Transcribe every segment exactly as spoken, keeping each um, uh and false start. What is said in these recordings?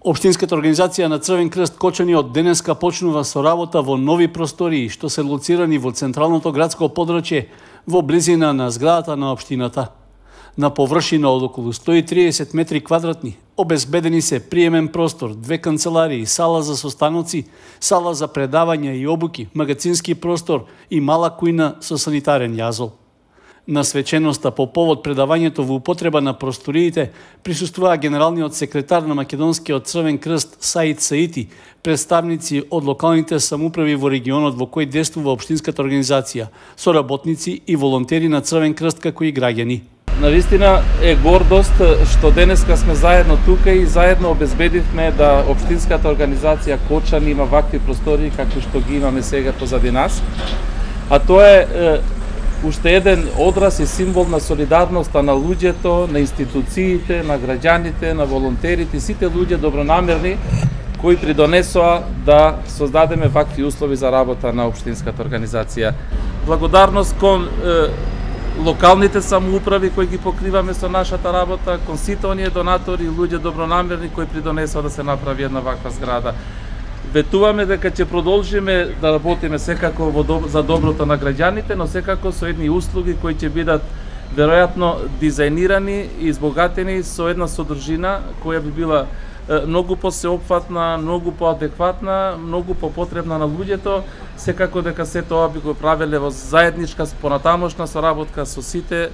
Општинската организација на Црвен крст Кочани од денеска почнува со работа во нови простории што се лоцирани во централното градско подрачје во близина на зградата на општината. На површина од околу сто и триесет метри квадратни обезбедени се приемен простор, две канцеларии, сала за состаноци, сала за предавања и обуки, магацински простор и мала кујна со санитарен јазол. На свеченоста по повод предавањето во употреба на просториите присуствува генералниот секретар на Македонскиот Црвен крст Саид Саити, представници од локалните самоуправи во регионот во кој действува општинската организација, соработници и волонтери на Црвен крст како и граѓани. Навистина е гордост што денеска сме заедно тука и заедно обезбедивме да општинската организација Кочани има вакви простори како што ги имаме сега позади нас. А тоа е, е уште еден одраз и символ на солидарноста на луѓето, на институциите, на граѓаните, на волонтерите, сите луѓе добронамерни кои придонесоа да создадеме вакви услови за работа на општинската организација. Благодарност кон е, локалните самоуправи кои ги покриваме со нашата работа, кон сите оние донатори и луѓе добронамерни кои придонесоа да се направи една ваква зграда. Ветуваме дека ќе продолжиме да работиме секако во доб... за доброто на граѓаните, но секако со едни услуги кои ќе бидат веројатно дизајнирани и избогатени со една содржина која би била многу посеопфатна, многу поадекватна, многу попотребна на луѓето, секако дека се тоа би го правеле во заедничка понатамошна соработка со сите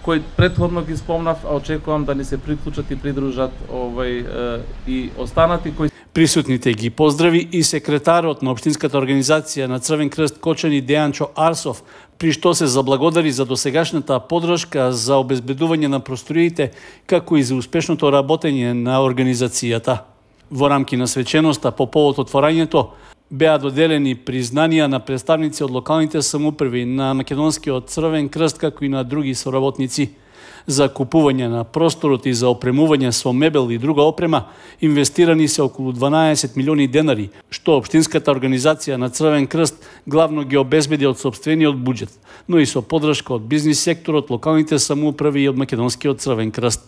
кои претходно ги спомнав, а очекувам да ни се приклучат и придружат овај и останати кои. Присутните ги поздрави и секретарот на општинската организација на Црвен крст Кочани Дејанчо Арсов, при што се заблагодари за досегашната поддршка за обезбедување на просториите, како и за успешното работење на организацијата. Во рамки на свеченоста по повод отворањето беа доделени признанија на представници од локалните самоуправи на Македонскиот Црвен крст, како и на други соработници. За купување на просторот и за опремување со мебел и друга опрема инвестирани се околу дванаесет милиони денари, што општинската организација на Црвен крст главно ги обезбеди од сопствениот буџет, но и со поддршка од бизнис секторот, локалните самоуправи и од Македонскиот Црвен крст.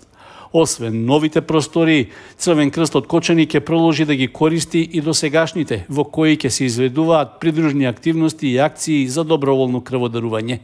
Освен новите простории, Црвен крст од Кочани ќе продолжи да ги користи и досегашните, во кои ќе се изведуваат придружни активности и акции за доброволно крводарување.